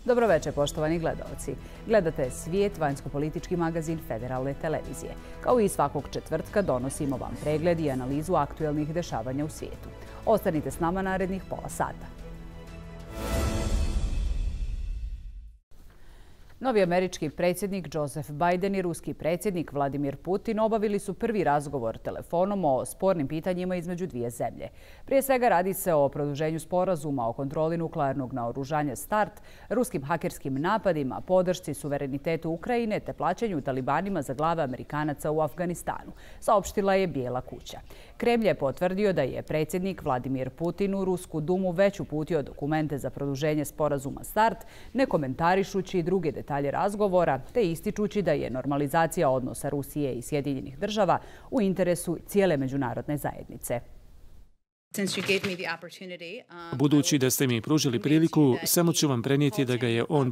Dobroveče, poštovani gledaoci. Gledate Svijet, vanjsko-politički magazin Federalne televizije. Kao i svakog četvrtka donosimo vam pregled i analizu aktuelnih dešavanja u svijetu. Ostanite s nama narednih pola sata. Novi američki predsjednik Joseph Biden i ruski predsjednik Vladimir Putin obavili su prvi razgovor telefonom o spornim pitanjima između dvije zemlje. Prije svega radi se o produženju sporazuma o kontroli nuklearnog naoružanja START, ruskim hakerskim napadima, podršci suverenitetu Ukrajine te plaćanju talibanima za glave Amerikanaca u Afganistanu, saopštila je Bijela kuća. Kremlj je potvrdio da je predsjednik Vladimir Putin u Rusku dumu već uputio dokumente za produženje sporazuma START, ne komentarišući druge detalje razgovora, te ističući da je normalizacija odnosa Rusije i Sjedinjenih država u interesu cijele međunarodne zajednice. Budući da ste mi pružili priliku, samo ću vam prenijeti da ga je on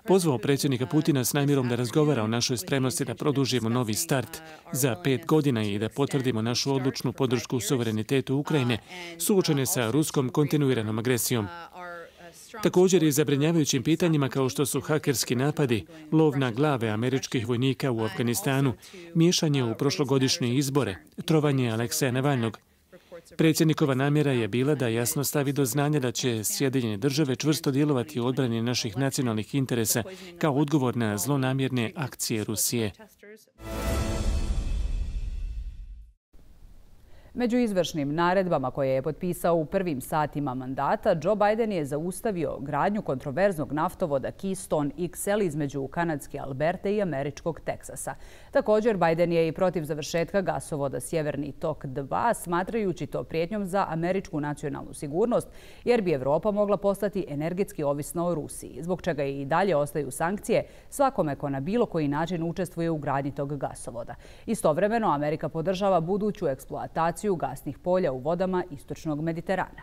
pozvao predsjednika Putina s namjerom da razgovara o našoj spremnosti da produžimo novi start za 5 godina i da potvrdimo našu odlučnu podršku suverenitetu Ukrajine suočene sa ruskom kontinuiranom agresijom. Također i zabrinjavajućim pitanjima kao što su hakerski napadi, lov na glave američkih vojnika u Afganistanu, miješanje u prošlogodišnje izbore, trovanje Alekseja Navalnog. Predsjednikova namjera je bila da jasno stavi do znanja da će Sjedinjene države čvrsto djelovati u odbrani naših nacionalnih interesa kao odgovor na zlonamjerne akcije Rusije. Među izvršnim naredbama koje je potpisao u prvim satima mandata, Joe Biden je zaustavio gradnju kontroverznog naftovoda Keystone XL između kanadske Alberte i američkog Teksasa. Također, Biden je i protiv završetka gasovoda Sjeverni tok 2, smatrajući to prijetnjom za američku nacionalnu sigurnost, jer bi Evropa mogla postati energetski ovisna o Rusiji, zbog čega i dalje ostaju sankcije svakome ko na bilo koji način učestvuje u gradnji tog gasovoda. Istovremeno, Amerika podržava buduću eksploataciju gasnih polja u vodama istočnog Mediterana.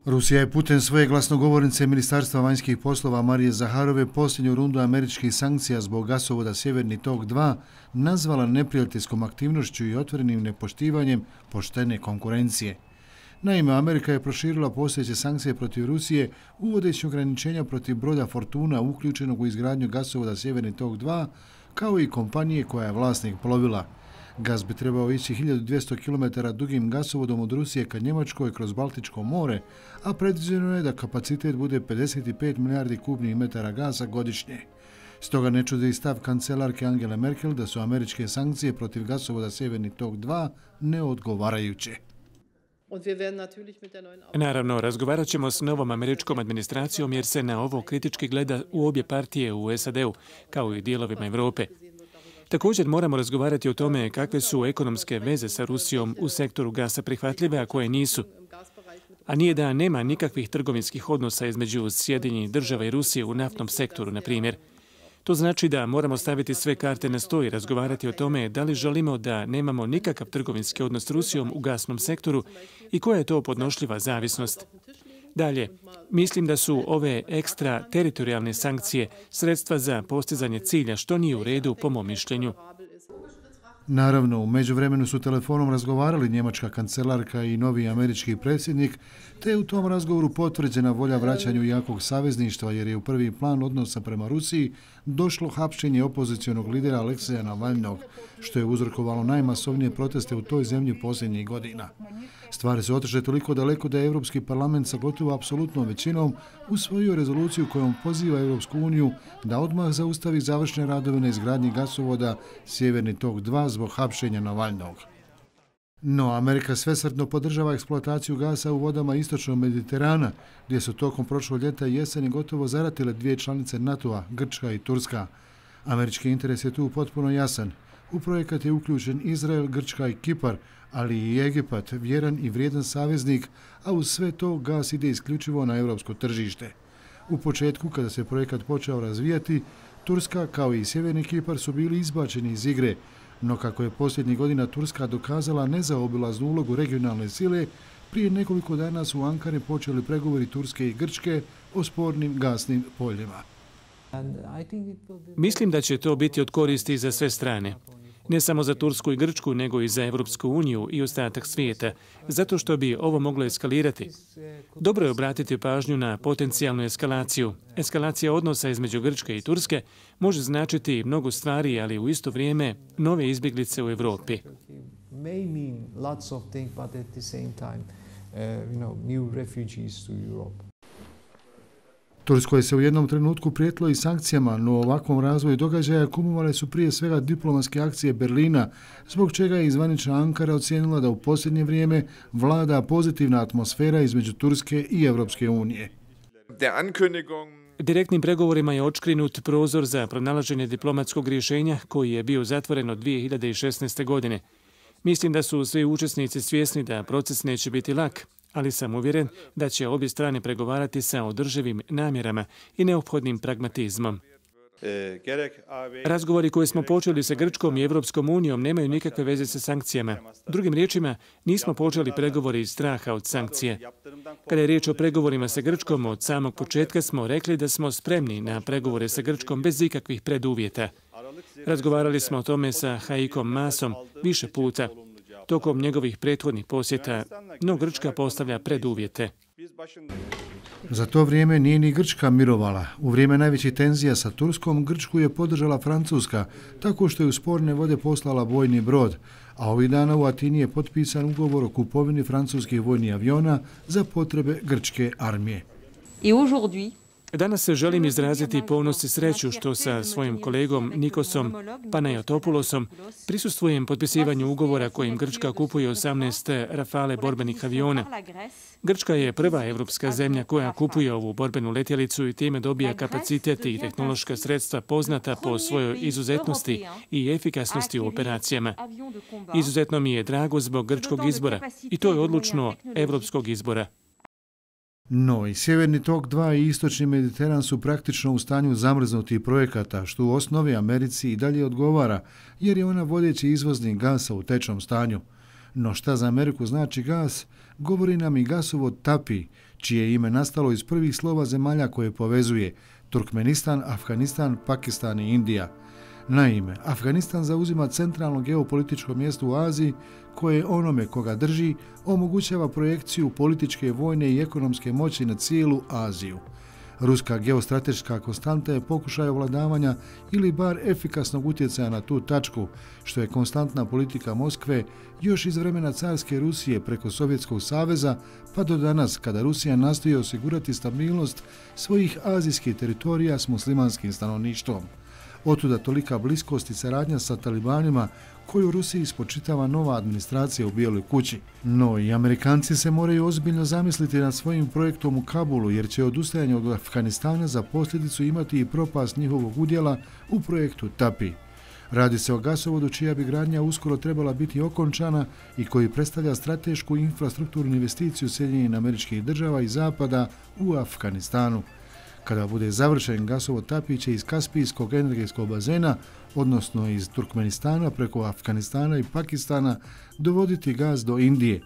Rusija je putem svoje glasnogovornice Ministarstva vanjskih poslova Marije Zaharove posljednju rundu američkih sankcija zbog gasovoda Sjeverni tok 2 nazvala neprijateljskom aktivnošću i otvorenim nepoštivanjem poštene konkurencije. Naime, Amerika je proširila postojeće sankcije protiv Rusije uvodeći ograničenja protiv broda Fortuna uključenog u izgradnju gasovoda Sjeverni tok 2, kao i kompanije koja je vlasnik plovila. Gas bi trebao ići 1200 km dugim gasovodom od Rusije ka Njemačkoj kroz Baltičko more, a predviđeno je da kapacitet bude 55 milijardi kubnih metara gasa godišnje. Stoga ne čudi stav kancelarke Angele Merkel da su američke sankcije protiv gasovoda Sjeverni tok 2 neodgovarajuće. Naravno, razgovarat ćemo s novom američkom administracijom jer se na ovo kritički gleda u obje partije u SAD-u, kao i dijelovima Europe. Također moramo razgovarati o tome kakve su ekonomske veze sa Rusijom u sektoru gasa prihvatljive, a koje nisu. A nije da nema nikakvih trgovinskih odnosa između Sjedinjenih država i Rusije u naftnom sektoru, na primjer. To znači da moramo staviti sve karte na sto i razgovarati o tome da li želimo da nemamo nikakav trgovinski odnos s Rusijom u gasnom sektoru i koja je to podnošljiva zavisnost. Dalje, mislim da su ove ekstra teritorijalne sankcije sredstva za postizanje cilja, što nije u redu po mom mišljenju. Naravno, u međuvremenu su telefonom razgovarali njemačka kancelarka i novi američki predsjednik, te je u tom razgovoru potvrđena volja vraćanju jakog savezništva jer je u prvi plan odnosa prema Rusiji došlo hapšenje opozicionog lidera Alekseja Navalnog, što je uzrokovalo najmasovnije proteste u toj zemlji posljednjih godina. Stvari su otišle toliko daleko da je Europski parlament sa gotovo apsolutnom većinom usvojio rezoluciju kojom poziva Europsku uniju da odmah zaustavi završne radove na izgradnji gasovoda Sjeverni tok 2 zbog hapšenja Navalnog. No, Amerika svesrdno podržava eksploataciju gasa u vodama istočnog Mediterana, gdje su tokom prošlog ljeta i jeseni gotovo zaratile dvije članice NATO-a, Grčka i Turska. Američki interes je tu potpuno jasan. U projekat je uključen Izrael, Grčka i Kipar, ali i Egipat, vjeran i vrijedan saveznik, a uz sve to gas ide isključivo na europsko tržište. U početku, kada se projekat počeo razvijati, Turska kao i Sjeverni Kipar su bili izbačeni iz igre, no kako je posljednjih godina Turska dokazala nezaobilaznu ulogu regionalne sile, prije nekoliko dana su u Ankari počeli pregovori Turske i Grčke o spornim gasnim poljima. Mislim da će to biti od koristi za sve strane. Ne samo za Tursku i Grčku, nego i za Evropsku uniju i ostatak svijeta, zato što bi ovo moglo eskalirati. Dobro je obratiti pažnju na potencijalnu eskalaciju. Eskalacija odnosa između Grčke i Turske može značiti mnogo stvari, ali u isto vrijeme nove izbjeglice u Evropi. Turskoj se u jednom trenutku prijetilo i sankcijama, no ovakvom razvoju događaja kumovale su prije svega diplomatske akcije Berlina, zbog čega je zvanična Ankara ocijenila da u posljednje vrijeme vlada pozitivna atmosfera između Turske i Evropske unije. Direktnim pregovorima je odškrinut prozor za pronalaženje diplomatskog rješenja koji je bio zatvoren od 2016. godine. Mislim da su svi učesnici svjesni da proces neće biti lak, ali sam uvjeren da će obje strane pregovarati sa održivim namjerama i neophodnim pragmatizmom. Razgovori koje smo počeli sa Grčkom i Evropskom unijom nemaju nikakve veze sa sankcijama. Drugim riječima, nismo počeli pregovori iz straha od sankcije. Kada je riječ o pregovorima sa Grčkom, od samog početka smo rekli da smo spremni na pregovore sa Grčkom bez ikakvih preduvjeta. Razgovarali smo o tome sa Haikom Maasom više puta tokom njegovih prethodnih posjeta, no Grčka postavlja preduvjete. Za to vrijeme nije ni Grčka mirovala. U vrijeme najvećih tenzija sa Turskom, Grčku je podržala Francuska, tako što je u sporne vode poslala vojni brod, a ovih dana u Atini je potpisan ugovor o kupovini francuskih vojnih aviona za potrebe grčke armije. Danas se želim izraziti ponos i sreću što sa svojim kolegom Nikosom Panayotopulosom prisustvujem potpisivanju ugovora kojim Grčka kupuje 18 Rafale borbenih aviona. Grčka je prva evropska zemlja koja kupuje ovu borbenu letjelicu i time dobija kapacitet i tehnološka sredstva poznata po svojoj izuzetnosti i efikasnosti u operacijama. Izuzetno mi je drago zbog grčkog izbora i to je odlučno evropskog izbora. No, i Sjeverni tok 2 i Istočni Mediteran su praktično u stanju zamrznutih projekata, što u osnovi Americi i dalje odgovara, jer je ona vodeći izvoznik gasa u tečnom stanju. No šta za Ameriku znači gas, govori nam i gasovod TAPI, čije ime nastalo iz prvih slova zemalja koje povezuje Turkmenistan, Afganistan, Pakistan i Indija. Naime, Afganistan zauzima centralno geopolitičko mjesto u Aziji koje onome koga drži omogućava projekciju političke, vojne i ekonomske moći na cijelu Aziju. Ruska geostrateška konstanta je pokušaj ovladavanja ili bar efikasnog utjecaja na tu tačku, što je konstantna politika Moskve još iz vremena carske Rusije preko Sovjetskog saveza pa do danas kada Rusija nastoji osigurati stabilnost svojih azijskih teritorija s muslimanskim stanovništvom. Otuda tolika bliskost i saradnja sa talibanima koju Rusiji spočitava nova administracija u Bijeloj kući. No i Amerikanci se moraju ozbiljno zamisliti nad svojim projektom u Kabulu jer će odustajanje od Afganistana za posljedicu imati i propast njihovog udjela u projektu TAPI. Radi se o gasovodu čija bi gradnja uskoro trebala biti okončana i koji predstavlja stratešku infrastrukturnu investiciju Sjedinjenih Američkih Država i Zapada u Afganistanu. Kada bude završen, gasovod TAPI će iz Kaspijskog energetskog bazena, odnosno iz Turkmenistana preko Afganistana i Pakistana, dovoditi gas do Indije.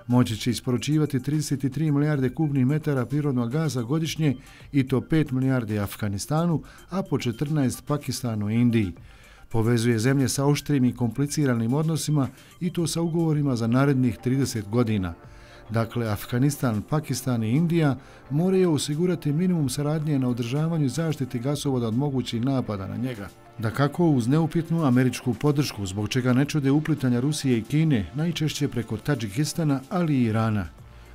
Moći će isporučivati 33 milijarde kubnih metara prirodnog gaza godišnje i to 5 milijardi Afganistanu, a po 14 Pakistanu i Indiji. Povezuje zemlje sa oštrim i kompliciranim odnosima i to sa ugovorima za narednih 30 godina. Dakle, Afganistan, Pakistan i Indija moraju osigurati minimum saradnje na održavanju i zaštiti gasovoda od mogućih napada na njega. Dakako uz neupitnu američku podršku, zbog čega ne čude uplitanja Rusije i Kine, najčešće preko Tadžikistana, ali i Irana.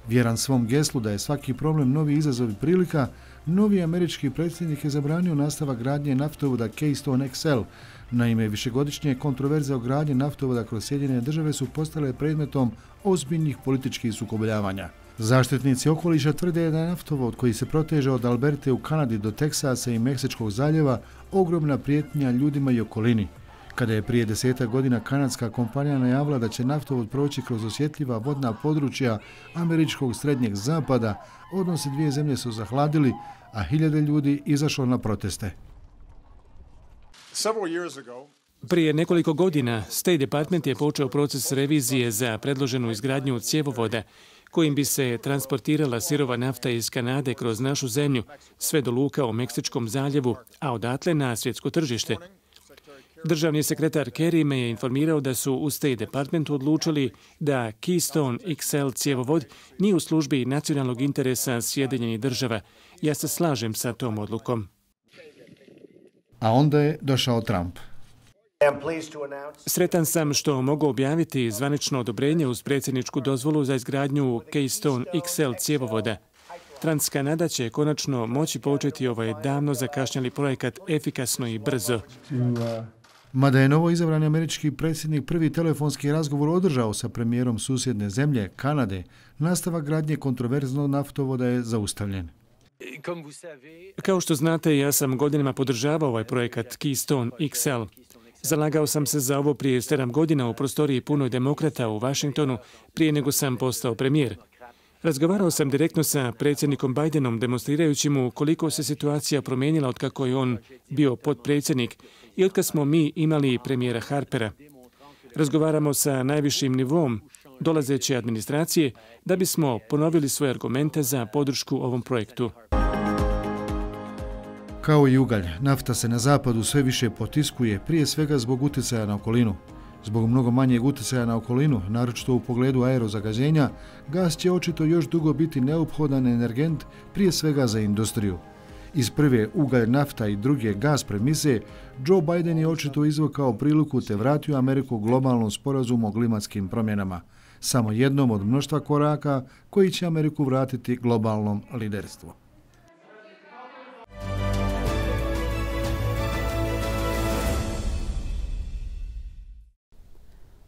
Vjeran svom geslu da je svaki problem novi izazov i prilika, novi američki predsjednik je zabranio nastavak gradnje naftovoda Keystone XL. Naime, višegodišnje kontroverze o gradnji naftovoda kroz Sjedinjene Države su postale predmetom ozbiljnih političkih sukobljavanja. Zaštitnici okoliša tvrde da je naftovod koji se proteže od Alberte u Kanadi do Teksasa i Meksičkog zaljeva ogromna prijetnja ljudima i okolini. Kada je prije 10 godina kanadska kompanija najavila da će naftovod proći kroz osjetljiva vodna područja američkog srednjeg zapada, odnosi dvije zemlje su zahladili, a hiljade ljudi izašlo na proteste. Prije nekoliko godina State Department je počeo proces revizije za predloženu izgradnju cjevovoda kojim bi se transportirala sirova nafta iz Kanade kroz našu zemlju, sve do luka u Meksičkom zaljevu, a odatle na svjetsko tržište. Državni sekretar Kerry me je informirao da su u State Departmentu odlučili da Keystone XL cjevovod nije u službi nacionalnog interesa Sjedinjenih država. Ja se slažem sa tom odlukom. A onda je došao Trump. Sretan sam što mogu objaviti zvanično odobrenje uz predsjedničku dozvolu za izgradnju Keystone XL cjevovoda. Transkanada će konačno moći početi ovaj davno zakašnjeli projekat efikasno i brzo. Mada je novo izabrani američki predsjednik prvi telefonski razgovor održao sa premijerom susjedne zemlje, Kanade, nastavak gradnje kontroverznog naftovoda je zaustavljen. Kao što znate, ja sam godinama podržavao ovaj projekat Keystone XL. Zalagao sam se za ovo prije 7 godina u prostoriji punoj demokrata u Washingtonu prije nego sam postao premijer. Razgovarao sam direktno sa predsjednikom Bidenom, demonstrirajući mu koliko se situacija promijenila otkako je on bio potpredsjednik i otkad smo mi imali premijera Harpera. Razgovaramo sa najvišim nivom dolazeće administracije da bismo ponovili svoje argumente za podršku ovom projektu. Kao i ugalj, nafta se na zapadu sve više potiskuje, prije svega zbog utjecaja na okolinu. Zbog mnogo manjeg utjecaja na okolinu, naročito u pogledu aerozagađenja, gas će očito još dugo biti neophodan energent, prije svega za industriju. Iz prve ugalj, nafta i druge gas premise, Joe Biden je očito izvukao priliku te vratio Ameriku globalnom sporazumu o klimatskim promjenama, samo jednom od mnoštva koraka koji će Ameriku vratiti globalnom liderstvu.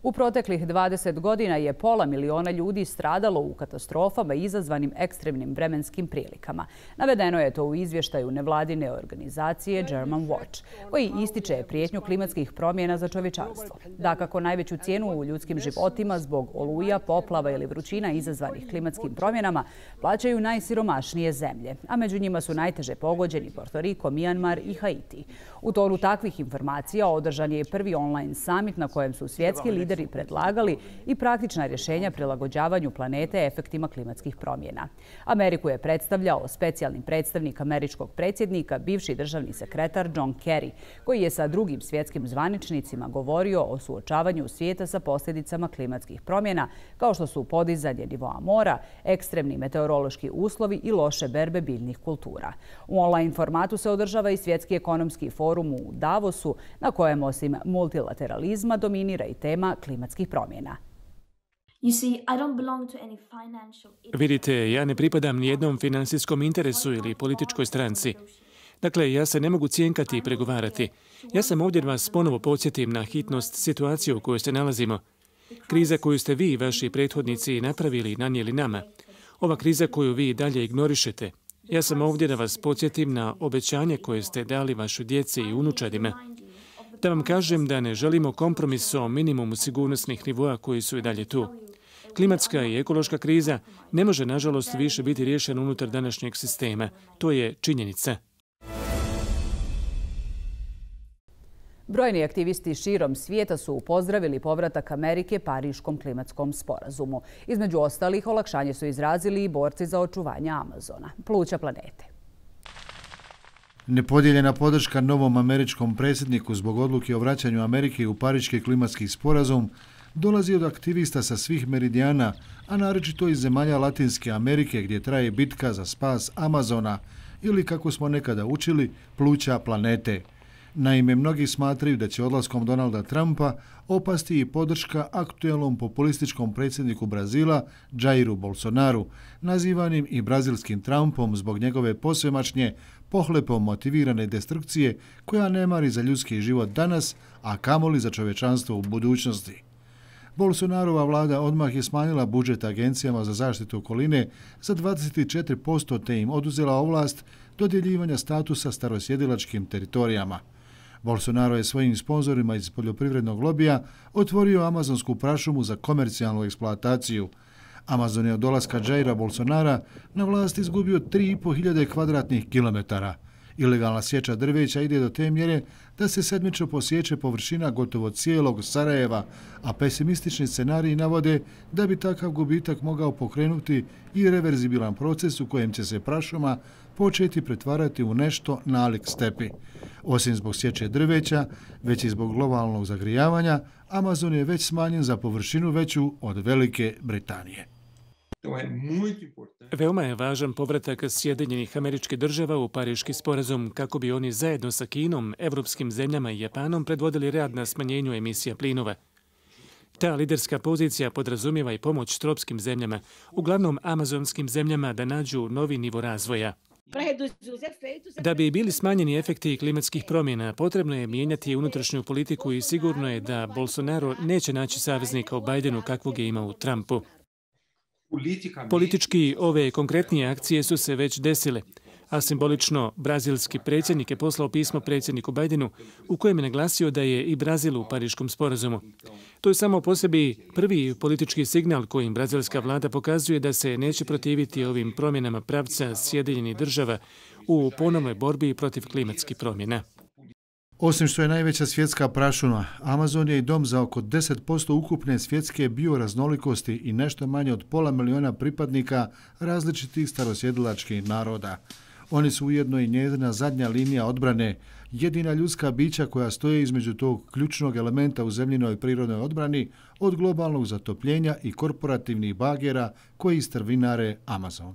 U proteklih 20 godina je 500.000 ljudi stradalo u katastrofama izazvanim ekstremnim vremenskim prilikama. Navedeno je to u izvještaju nevladine organizacije German Watch, koji ističe prijetnju klimatskih promjena za čovječanstvo. Dakako, najveću cijenu u ljudskim životima zbog oluja, poplava ili vrućina izazvanih klimatskim promjenama plaćaju najsiromašnije zemlje, a među njima su najteže pogođeni Porto Riko, Mijanmar i Haiti. U tonu takvih informacija održan je prvi online summit na kojem su svjetski lideri predlagali i praktična rješenja prilagođavanju planete efektima klimatskih promjena. Ameriku je predstavljao specijalni predstavnik američkog predsjednika, bivši državni sekretar John Kerry, koji je sa drugim svjetskim zvaničnicima govorio o suočavanju svijeta sa posljedicama klimatskih promjena, kao što su podizanje nivoa mora, ekstremni meteorološki uslovi i loše berbe biljnih kultura. U online formatu se održava i Svjetski ekonomski forum u Davosu, na kojem osim multilateralizma dominira i tema klimatskih promjena. Vidite, ja ne pripadam nijednom financijskom interesu ili političkoj stranci. Dakle, ja se ne mogu cjenkati i pregovarati. Ja sam ovdje da vas ponovo podsjetim na hitnost situacije u kojoj se nalazimo. Kriza koju ste vi i vaši prethodnici napravili i nanijeli nama. Ova kriza koju vi dalje ignorišete. Ja sam ovdje da vas podsjetim na obećanje koje ste dali vašoj djeci i unučadima. Da vam kažem da ne želimo kompromis o minimumu sigurnosnih nivoa koji su i dalje tu. Klimatska i ekološka kriza ne može, nažalost, više biti riješena unutar današnjeg sistema. To je činjenica. Brojni aktivisti širom svijeta su pozdravili povratak Amerike Pariškom klimatskom sporazumu. Između ostalih, olakšanje su izrazili i borci za očuvanje Amazona, pluća planete. Nepodijeljena podrška novom američkom predsjedniku zbog odluke o vraćanju Amerike u Pariški klimatski sporazum dolazi od aktivista sa svih meridijana, a naročito iz zemalja Latinske Amerike gdje traje bitka za spas Amazona ili, kako smo nekada učili, pluća planete. Naime, mnogi smatraju da će odlaskom Donalda Trumpa opasti i podrška aktuelnom populističkom predsjedniku Brazila, Jairu Bolsonaru, nazivanim i brazilskim Trumpom zbog njegove posvemašnje, pohlepom motivirane destrukcije koja ne mari za ljudski život danas, a kamoli za čovječanstvo u budućnosti. Bolsonarova vlada odmah je smanjila budžet agencijama za zaštitu okoline za 24% te im oduzela ovlast dodjeljivanja statusa starosjedilačkim teritorijama. Bolsonaro je svojim sponzorima iz poljoprivrednog lobija otvorio amazonsku prašumu za komercijalnu eksploataciju. Amazon je od dolaska Jaira Bolsonara na vlast izgubio 3.500 kvadratnih kilometara Ilegalna sječa drveća ide do te mjere da se sedmično posječe površina gotovo cijelog Sarajeva, a pesimistični scenariji navode da bi takav gubitak mogao pokrenuti i reverzibilan proces u kojem će se prašuma početi pretvarati u nešto nalik stepi. Osim zbog sječe drveća, već i zbog globalnog zagrijavanja, Amazon je već smanjen za površinu veću od Velike Britanije. Veoma je važan povratak Sjedinjenih Američkih Država u Pariški sporazum kako bi oni zajedno sa Kinom, evropskim zemljama i Japanom predvodili rad na smanjenju emisija plinova. Ta liderska pozicija podrazumijeva i pomoć tropskim zemljama, uglavnom amazonskim zemljama, da nađu novi nivo razvoja. Da bi bili smanjeni efekti klimatskih promjena, potrebno je mijenjati unutrašnju politiku i sigurno je da Bolsonaro neće naći saveznika u Bidenu kakvog je imao u Trumpu. Politički ove konkretnije akcije su se već desile, a simbolično brazilski predsjednik je poslao pismo predsjedniku Bidenu u kojem je naglasio da je i Brazil u Pariškom sporazumu. To je samo po sebi prvi politički signal kojim brazilska vlada pokazuje da se neće protiviti ovim promjenama pravca Sjedinjenih Država u ponovnoj borbi protiv klimatskih promjena. Osim što je najveća svjetska prašuma, Amazon je i dom za oko 10% ukupne svjetske bioraznolikosti i nešto manje od 500 miliona pripadnika različitih starosjedilačkih naroda. Oni su ujedno i njezina zadnja linija odbrane, jedina ljudska bića koja stoje između tog ključnog elementa u zemljinoj prirodnoj odbrani od globalnog zatopljenja i korporativnih bagera koji strvinare Amazon.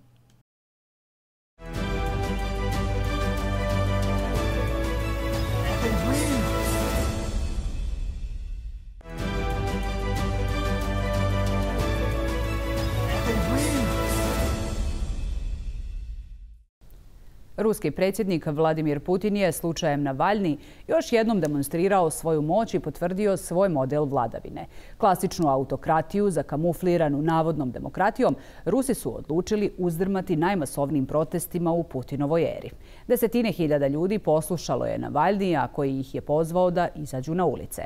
Ruski predsjednik Vladimir Putin je slučajem Navalni još jednom demonstrirao svoju moć i potvrdio svoj model vladavine. Klasičnu autokratiju zakamufliranu navodnom demokratijom Rusi su odlučili uzdrmati najmasovnijim protestima u Putinovoj eri. Desetine hiljada ljudi poslušalo je Navalnija koji ih je pozvao da izađu na ulice.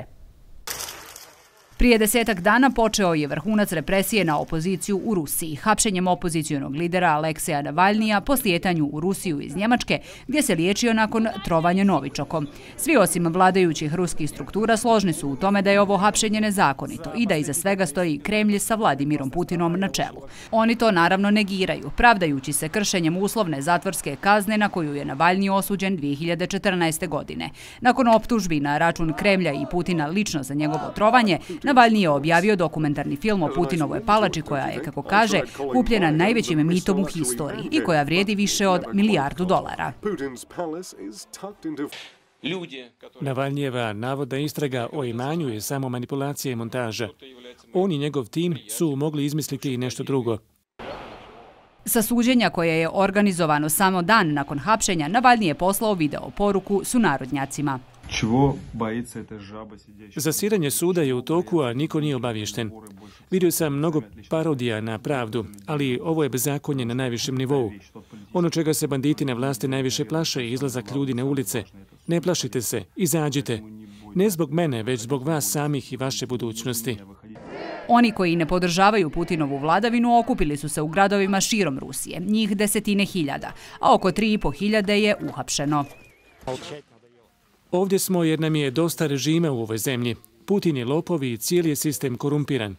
Prije 10 dana počeo je vrhunac represije na opoziciju u Rusiji, hapšenjem opozicionog lidera Alekseja Navalnija po slijetanju u Rusiju iz Njemačke, gdje se liječio nakon trovanja novičokom. Svi osim vladajućih ruskih struktura složni su u tome da je ovo hapšenje nezakonito i da iza svega stoji Kremlj sa Vladimirom Putinom na čelu. Oni to naravno negiraju, pravdajući se kršenjem uslovne zatvorske kazne na koju je Navalni osuđen 2014. godine. Nakon optužbi na račun Kremlja i Putina lično za njegovo trovanje, Navalni je objavio dokumentarni film o Putinovoj palači koja je, kako kaže, kupljena najvećim mitom u historiji i koja vrijedi više od $1 milijardu. Navalnijeva navodna istraga o imanju je samo manipulacija i montaža. On i njegov tim su mogli izmisliti i nešto drugo. Sa suđenja koje je organizovano samo dan nakon hapšenja, Navalni je poslao video poruku sunarodnjacima. Zasiranje suda je u toku, a niko nije obaviješten. Vidio sam mnogo parodija na pravdu, ali ovo je bezakonje na najvišem nivou. Ono čega se banditi na vlasti najviše plaše je izlazak ljudi na ulice. Ne plašite se, izađite. Ne zbog mene, već zbog vas samih i vaše budućnosti. Oni koji ne podržavaju Putinovu vladavinu okupili su se u gradovima širom Rusije, njih desetine hiljada, a oko 3.500 je uhapšeno. Ovdje smo jer nam je dosta režima u ovoj zemlji. Putin je lopov i cijeli je sistem korumpiran.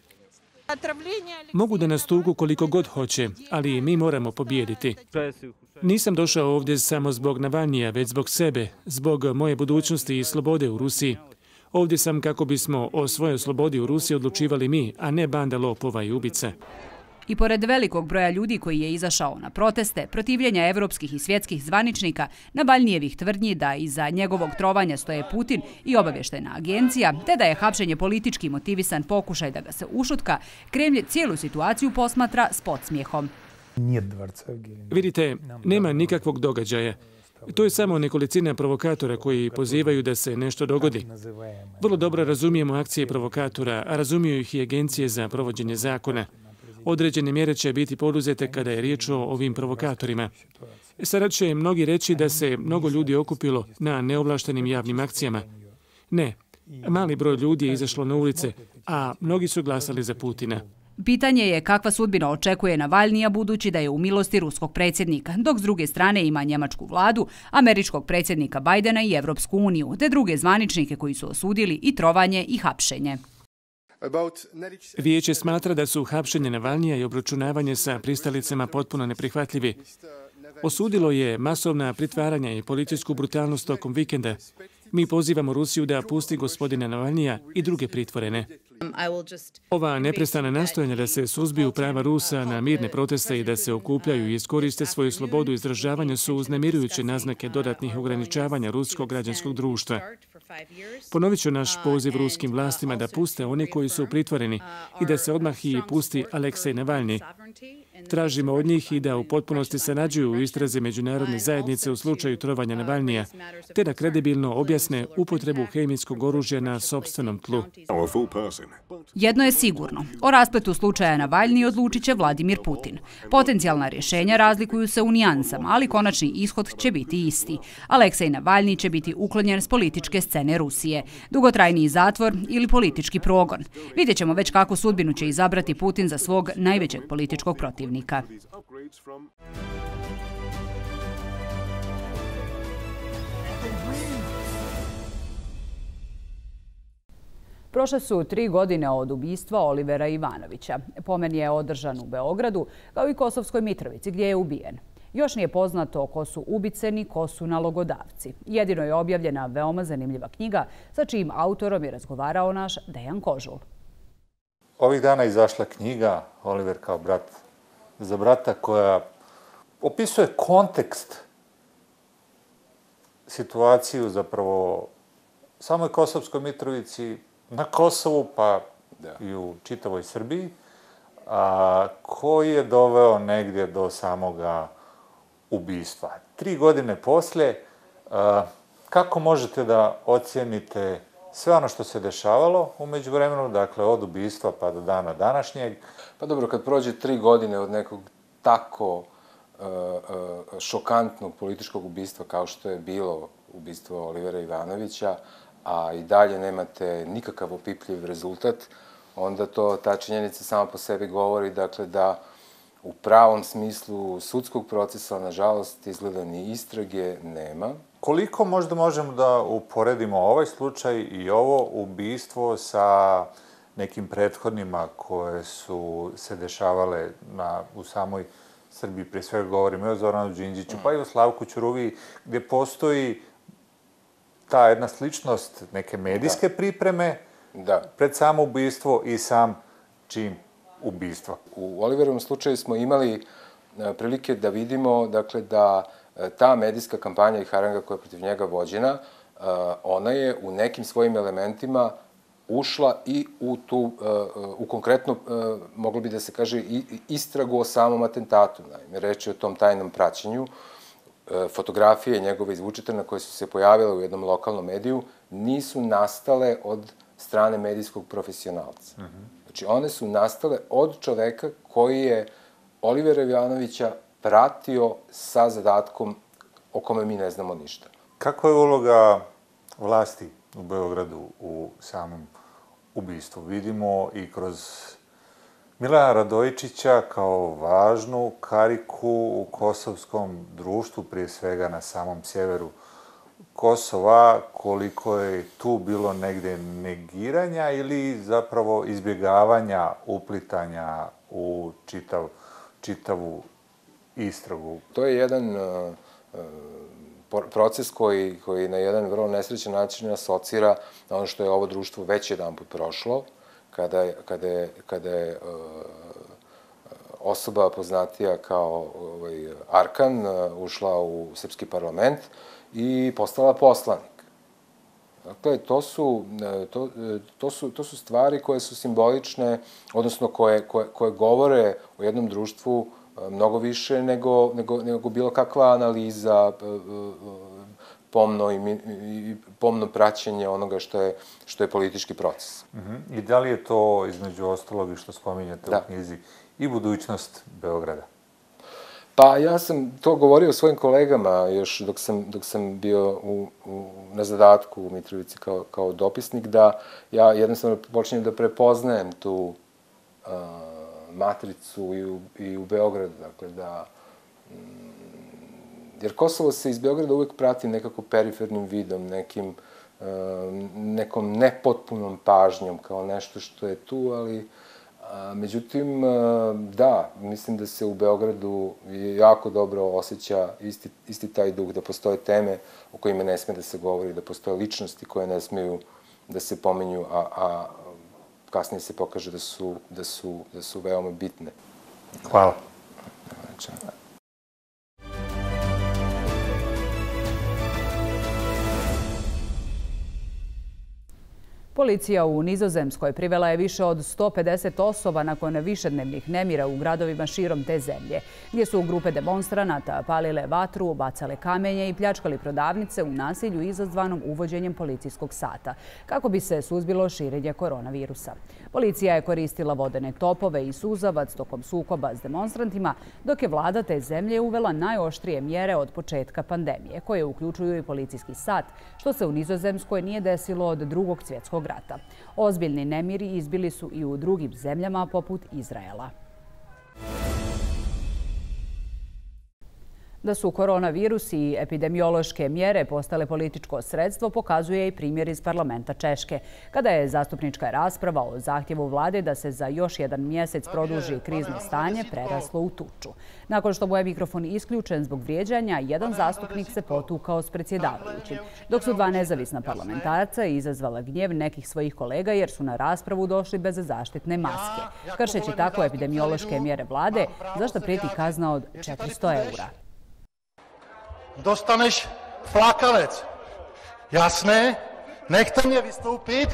Mogu da nas tugu koliko god hoće, ali mi moramo pobijediti. Nisam došao ovdje samo zbog Navalnija, već zbog sebe, zbog moje budućnosti i slobode u Rusiji. Ovdje sam kako bismo o svojoj slobodi u Rusiji odlučivali mi, a ne banda lopova i ubica. I pored velikog broja ljudi koji je izašao na proteste, protivljenja evropskih i svjetskih zvaničnika, Navalnijevih tvrdnji da iza njegovog trovanja stoje Putin i obavještajna agencija, te da je hapšenje politički motivisan pokušaj da ga se ušutka, Kremlj cijelu situaciju posmatra s podsmijehom. Vidite, nema nikakvog događaja. To je samo nekolicina provokatora koji pozivaju da se nešto dogodi. Vrlo dobro razumijemo akcije provokatora, a razumiju ih i agencije za provođenje zakona. Određene mjere će biti poduzete kada je riječ o ovim provokatorima. Sada će mnogi reći da se mnogo ljudi okupilo na neovlaštenim javnim akcijama. Ne, mali broj ljudi je izašlo na ulice, a mnogi su glasali za Putina. Pitanje je kakva sudbina očekuje Navalnija budući da je u milosti ruskog predsjednika, dok s druge strane ima njemačku vladu, američkog predsjednika Bajdena i Evropsku uniju, te druge zvaničnike koji su osudili i trovanje i hapšenje. Vijeće smatra da su hapšenje Navalnija i obračunavanje sa pristalicama potpuno neprihvatljivi. Osudilo je masovna pritvaranja i policijsku brutalnost tokom vikenda. Mi pozivamo Rusiju da pusti gospodina Navalnija i druge pritvorene. Ova neprestana nastojanja da se suzbiju prava Rusa na mirne proteste i da se okupljaju i iskoriste svoju slobodu izražavanja su uznemirujuće naznake dodatnih ograničavanja ruskog građanskog društva. Ponovit ću naš poziv ruskim vlastima da puste one koji su pritvoreni i da se odmah i pusti Aleksej Navalni. Tražimo od njih i da u potpunosti sarađuju u istrazi međunarodne zajednice u slučaju trovanja Navalnija, te da kredibilno objasne upotrebu hemijskog oružja na sopstvenom tlu. Jedno je sigurno. O raspletu slučaja Navalni odlučit će Vladimir Putin. Potencijalna rješenja razlikuju se u nijansama, ali konačni ishod će biti isti. Aleksej Navalni će biti uklonjen s političke scene Rusije. Dugotrajniji zatvor ili politički progon. Vidjet ćemo već kakvu sudbinu će izabrati Putin za svog najvećeg političkog protivnika. Prošle su 3 godine od ubistva Olivera Ivanovića. Pomen je održan u Beogradu, kao i Kosovskoj Mitrovici, gdje je ubijen. Još nije poznato ko su ubice ni ko su nalogodavci. Jedino je objavljena veoma zanimljiva knjiga, sa čijim autorom je razgovarao naš Dejan Kožul. Ovih dana je izašla knjiga Oliver kao brat za brata, koja opisuje kontekst, situaciju zapravo samoj Kosovskoj Mitrovici, na Kosovu pa i u čitavoj Srbiji, koji je doveo negdje do samoga ubistva. 3 godine poslije, kako možete da ocijenite sve ono što se dešavalo u međuvremenu, dakle od ubistva pa do dana današnjeg? Pa dobro, kad prođe 3 godine od nekog tako šokantnog političkog ubistva kao što je bilo ubistvo Olivera Ivanovića, a i dalje nemate nikakav opipljiv rezultat, onda ta činjenica sama po sebi govori, dakle, da u pravom smislu sudskog procesa, nažalost, izgleda ni istrage nema. Koliko možda možemo da uporedimo ovaj slučaj i ovo ubistvo sa nekim prethodnima koje su se dešavale u samoj Srbiji, prije svega govorimo i o Zoranu Đinđiću, pa i o Slavku Ćuruviji, gdje postoji ta jedna sličnost neke medijske pripreme pred samo ubistvo i sam čin ubistva. U Oliverovom slučaju smo imali prilike da vidimo, dakle, da ta medijska kampanja i haranga koja je protiv njega vođena, ona je u nekim svojim elementima ušla i u konkretno, moglo bi da se kaže, istragu o samom atentatu. Naime, reč je o tom tajnom praćenju. Fotografije njegove izvučitelja koje su se pojavile u jednom lokalnom mediju nisu nastale od strane medijskog profesionalca. Znači, one su nastale od čoveka koji je Olivera Ivanovića pratio sa zadatkom o kome mi ne znamo ništa. Kakva je uloga vlasti u Beogradu u samom ubistvu? Vidimo i kroz Milana Radojičića kao važnu kariku u kosovskom društvu, prije svega na samom sjeveru Kosova, koliko je tu bilo negde negiranja ili zapravo izbjegavanja uplitanja u čitavu istragu. To je jedan proces koji na jedan vrlo nesrećan način asocira na ono što je ovo društvo već jedanput prošlo, kada je osoba poznatija kao Arkan ušla u srpski parlament i postala poslanik. Dakle, to su stvari koje su simbolične, odnosno koje govore o jednom društvu mnogo više nego bilo kakva analiza, pomno praćenje onoga što je politički proces. I da li je to, između ostalog, što spominjate u knjizi, i budućnost Beograda? Pa ja sam to govorio svojim kolegama još dok sam bio na zadatku u Mitrovici kao dopisnik, da ja jednostavno počinjem da prepoznajem tu matricu i u Beogradu, dakle da... Jer Kosovo se iz Beograda uvek prati nekako perifernim vidom, nekom nepotpunom pažnjom, kao nešto što je tu, ali međutim, da, mislim da se u Beogradu jako dobro osjeća isti taj duh, da postoje teme o kojima ne sme da se govori, da postoje ličnosti koje ne smeju da se pominju, a kasnije se pokaže da su veoma bitne. Hvala. Policija u Nizozemskoj privela je više od 150 osoba nakon višednevnih nemira u gradovima širom te zemlje, gdje su grupe demonstranata palile vatru, bacale kamenje i pljačkali prodavnice u nasilju izazvanom uvođenjem policijskog sata, kako bi se suzbilo širenje koronavirusa. Policija je koristila vodene topove i suzavac tokom sukoba s demonstrantima, dok je vlada te zemlje uvela najoštrije mjere od početka pandemije, koje uključuju i policijski sat, što se u Nizozemskoj nije desilo od Drugog svjetskog rata. Ozbiljni nemiri izbili su i u drugim zemljama poput Izraela. Da su koronavirus i epidemiološke mjere postale političko sredstvo pokazuje i primjer iz parlamenta Češke, kada je zastupnička rasprava o zahtjevu vlade da se za još jedan mjesec produži krizno stanje preraslo u tuču. Nakon što mu je mikrofon isključen zbog vrijeđanja, jedan zastupnik se potukao s predsjedavajućim, dok su dva nezavisna parlamentarca izazvala gnjev nekih svojih kolega jer su na raspravu došli bez zaštitne maske, kršeći tako epidemiološke mjere vlade, za što prijeti kazna od 400 €. Dostaneš flakanec. Jasné? Nechte mě vystoupit.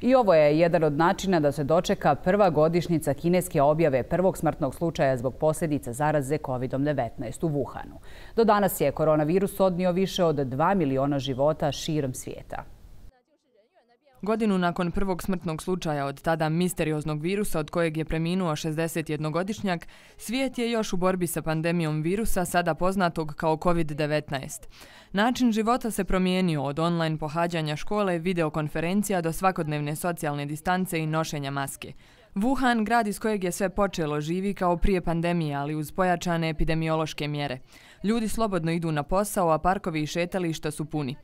I ovo je jedan od načina da se dočeka prva godišnjica kineske objave prvog smrtnog slučaja zbog posljedica zaraze COVID-19 u Wuhanu. Do danas je koronavirus odnio više od 2 miliona života širom svijeta. Godinu nakon prvog smrtnog slučaja od tada misterioznog virusa od kojeg je preminuo 61-godišnjak, svijet je još u borbi sa pandemijom virusa, sada poznatog kao COVID-19. Način života se promijenio od online pohađanja škole, videokonferencija do svakodnevne socijalne distance i nošenja maske. Wuhan, grad iz kojeg je sve počelo, živi kao prije pandemije, ali uz pojačane epidemiološke mjere. Ljudi slobodno idu na posao, a parkovi i šetališta su puni.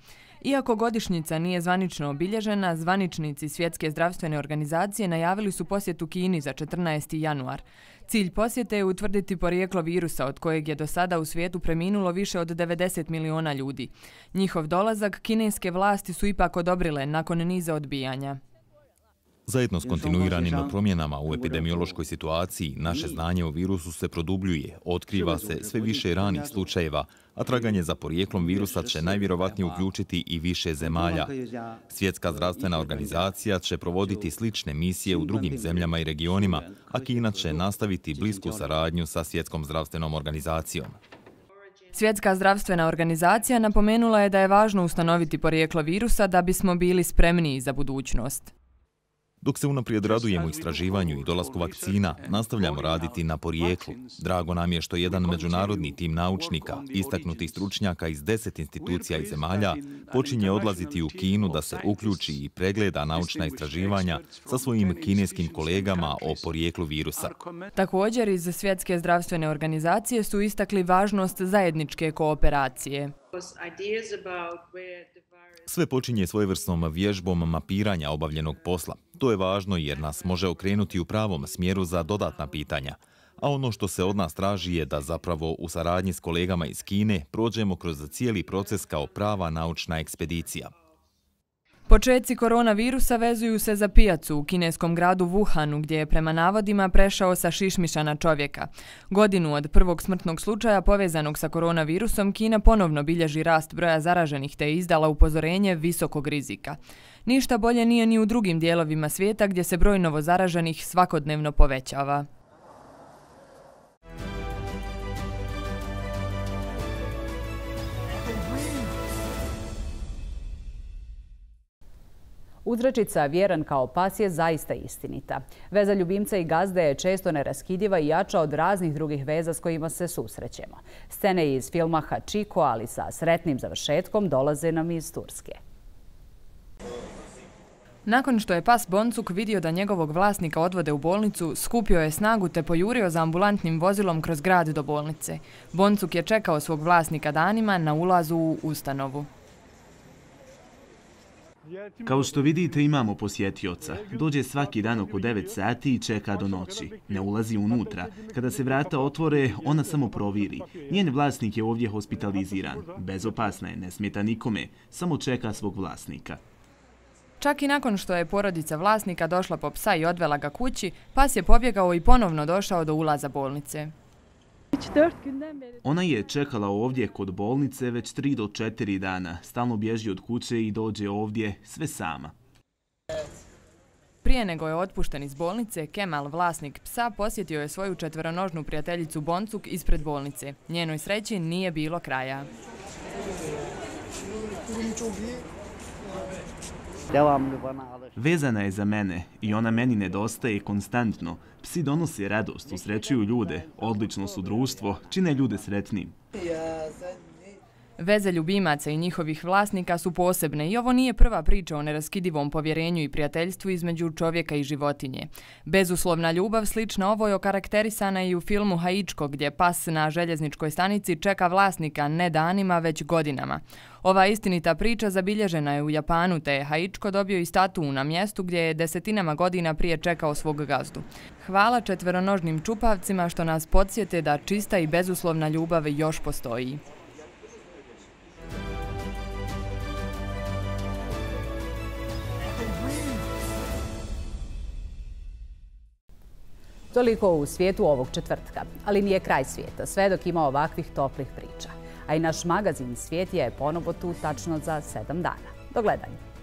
Iako godišnjica nije zvanično obilježena, zvaničnici Svjetske zdravstvene organizacije najavili su posjetu Kini za 14. januar. Cilj posjete je utvrditi porijeklo virusa od kojeg je do sada u svijetu preminulo više od 90 miliona ljudi. Njihov dolazak kineske vlasti su ipak odobrile nakon niza odbijanja. Zajedno s kontinuiranim promjenama u epidemiološkoj situaciji, naše znanje o virusu se produbljuje, otkriva se sve više ranih slučajeva, a traganje za porijeklom virusa će najvjerovatnije uključiti i više zemalja. Svjetska zdravstvena organizacija će provoditi slične misije u drugim zemljama i regionima, a Kina će nastaviti blisku saradnju sa Svjetskom zdravstvenom organizacijom. Svjetska zdravstvena organizacija napomenula je da je važno ustanoviti porijeklo virusa da bismo bili spremniji za budućnost. Dok se unaprijed radujemo istraživanju i dolasku vakcina, nastavljamo raditi na porijeklu. Drago nam je što jedan međunarodni tim naučnika, istaknutih stručnjaka iz 10 institucija i zemalja, počinje odlaziti u Kinu da se uključi i pregleda naučna istraživanja sa svojim kineskim kolegama o porijeklu virusa. Također, iz Svjetske zdravstvene organizacije su istakli važnost zajedničke kooperacije. Sve počinje svojevrsnom vježbom mapiranja obavljenog posla. To je važno jer nas može okrenuti u pravom smjeru za dodatna pitanja. A ono što se od nas traži je da zapravo u saradnji s kolegama iz Kine prođemo kroz cijeli proces kao prava naučna ekspedicija. Početci koronavirusa vezuju se za pijacu u kineskom gradu Wuhanu, gdje je prema navodima prešao sa šišmiša na čovjeka. Godinu od prvog smrtnog slučaja povezanog sa koronavirusom, Kina ponovno bilježi rast broja zaraženih te je izdala upozorenje visokog rizika. Ništa bolje nije ni u drugim dijelovima svijeta gdje se broj novozaraženih svakodnevno povećava. Uzrečica vjeran kao pas je zaista istinita. Veza ljubimca i gazde je često neraskidiva i jača od raznih drugih veza s kojima se susrećemo. Scene iz filma Hachiko, ali sa sretnim završetkom, dolaze nam iz Turske. Nakon što je pas Boncuk vidio da njegovog vlasnika odvode u bolnicu, skupio je snagu te pojurio za ambulantnim vozilom kroz grad do bolnice. Boncuk je čekao svog vlasnika danima na ulazu u ustanovu. Kao što vidite, imamo posjetioca. Dođe svaki dan oko 9 sati i čeka do noći. Ne ulazi unutra. Kada se vrata otvore, ona samo proviri. Njen vlasnik je ovdje hospitaliziran. Bezopasna je, ne smeta nikome. Samo čeka svog vlasnika. Čak i nakon što je porodica vlasnika došla po psa i odvela ga kući, pas je pobjegao i ponovno došao do ulaza bolnice. Ona je čekala ovdje kod bolnice već 3 do 4 dana. Stalno bježi od kuće i dođe ovdje sve sama. Prije nego je otpušten iz bolnice, Kemal, vlasnik psa, posjetio je svoju četveronožnu prijateljicu Boncuk ispred bolnice. Njenoj sreći nije bilo kraja. Vezana je za mene i ona meni nedostaje konstantno. Psi donose radost, usrećuju ljude, odlično su društvo, čine ljude sretnim. Veze ljubimaca i njihovih vlasnika su posebne i ovo nije prva priča o neraskidivom povjerenju i prijateljstvu između čovjeka i životinje. Bezuslovna ljubav slična ovoj okarakterisana i u filmu Haičko, gdje pas na željezničkoj stanici čeka vlasnika ne danima, već godinama. Ova istinita priča zabilježena je u Japanu, te je Haičko dobio i statu na mjestu gdje je desetinama godina prije čekao svog gazdu. Hvala četveronožnim čupavcima što nas podsjete da čista i bezuslovna ljubav još postoji. Toliko u svijetu ovog četvrtka, ali nije kraj svijeta, sve dok ima ovakvih toplih priča. A i naš magazin Svijet je ponovo tu tačno za 7 dana. Do gledanja.